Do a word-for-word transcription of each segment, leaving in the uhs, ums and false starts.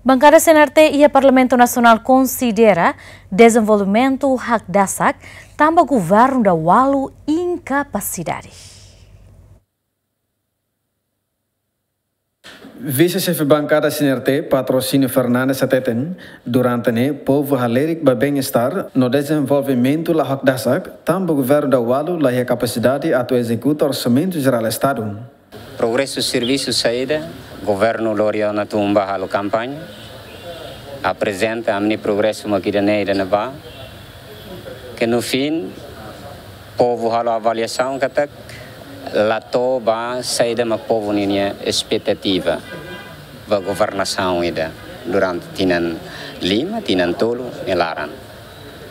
Bankada C N R T iha Parlamentu Nasionál konsidera dezenvolvimentu hakdasak tanba governu Daualu inkapasidade. Vise-Xefe Bankada C N R T, Patrocínio Fernandes hateten, durante ne'e povu halerik ba bem-estar no dezenvolvimentu la hakdasak, tanba governu Daualu la iha kapasidade atu ezekuta Orsamentu Jerál Estadu. Progresu servisu saida, governu lori ona tun ba halo kampaña, aprezenta ami-nia progresu mak ida-ne'e, ida-ne'ebá, ke no fim, povu halo avaliasaun katak la to'o ba saida mak povu ninia espetativa ba governasaun ida durante tinan lima, tinan tolu nia laran.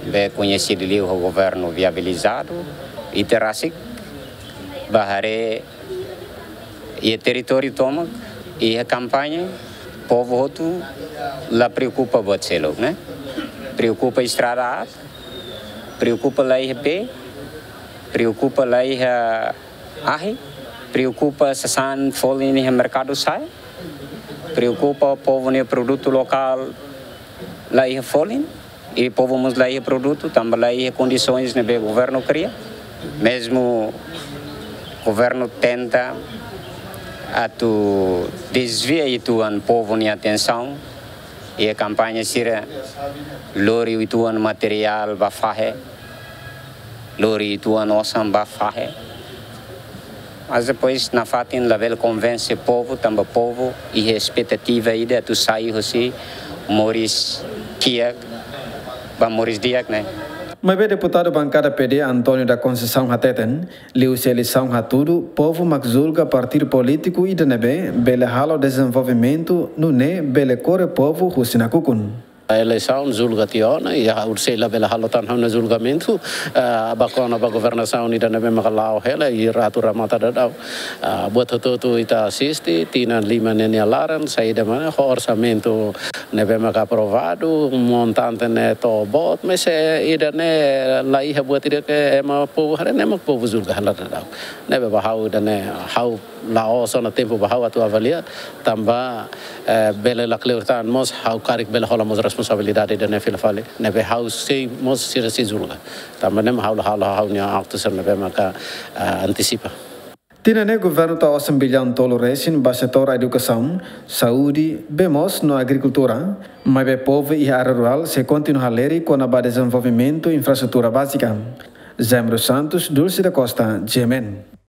Be koñesidu liu ho governu viabilizadu, ita rasik ba haree iha territóriu tomak, iha kampaña, povu hotu la preokupa buat seluk, ne'e? Preokupa estrada aat, preokupa la iha bee, preokupa la iha ahi, preokupa sasán folin iha merkadu sa'e, preokupa povu nia produtu lokál la iha folin, i povu mós la iha produtu, tanba la iha kondisoens ne'ebé governu kria. Mezmu governu tenta atu dezvia uitoan povu nia atensaun, iha kampaña sira lori uitoan materiál ba fahe, lori uitoan osan ba fahe. Mas depois nafatin labele konvense povu, tanba povu iha espetativa ida atu sai husi moris kiak ba moris di'ak, ne'e? Maibé deputadu bankada P D António da Conceição hateten, liuhusi eleisaun hatudu, povu mak julga partidu polítiku ida ne'ebé bele halo dezenvolvimentu, nune'e bele kore povu husi nakukun. Eleisaun julga tiha ona, i ha'u sei labele halo tan ha'u-nia julgamentu, ah, ba kona-ba governasaun ida ne'ebé maka la'o hela, i atu remata daudaun. Ah, buat hotu-hotu ita asiste, tinan lima ne'e nia laran, saida mak ho orsamentu ne'ebé maka aprovadu, montante ne'e to'o boot, mas, eh, ida-ne'e la iha buat ida ke ema povu haree, ne'e mak povu julga hela daudaun. Ne'ebé ba ha'u ida-ne'e, ha'u la'ós ona tempu ba ha'u atu avalia, tanba, eh, bele la kleur tan mós, ha'u karik bele hola mós responsabilidade ida-ne'e fila fali, ne'ebé ha'u sei mós sira sei julga. Tanba ne'e mak ha'u la halo ha'u-nia aktu sira ne'ebé maka, eh, antisipa. Tinan ne'e governu tau osan billaun tolu resin ba setór edukasaun, saúde, bee moos no agrikultura, maibé povu iha área rurál sei kontinua halerik kona-ba dezenvolvimentu infraestrutura bázika. Jaime dos Santos, Dulce da Costa, G M N.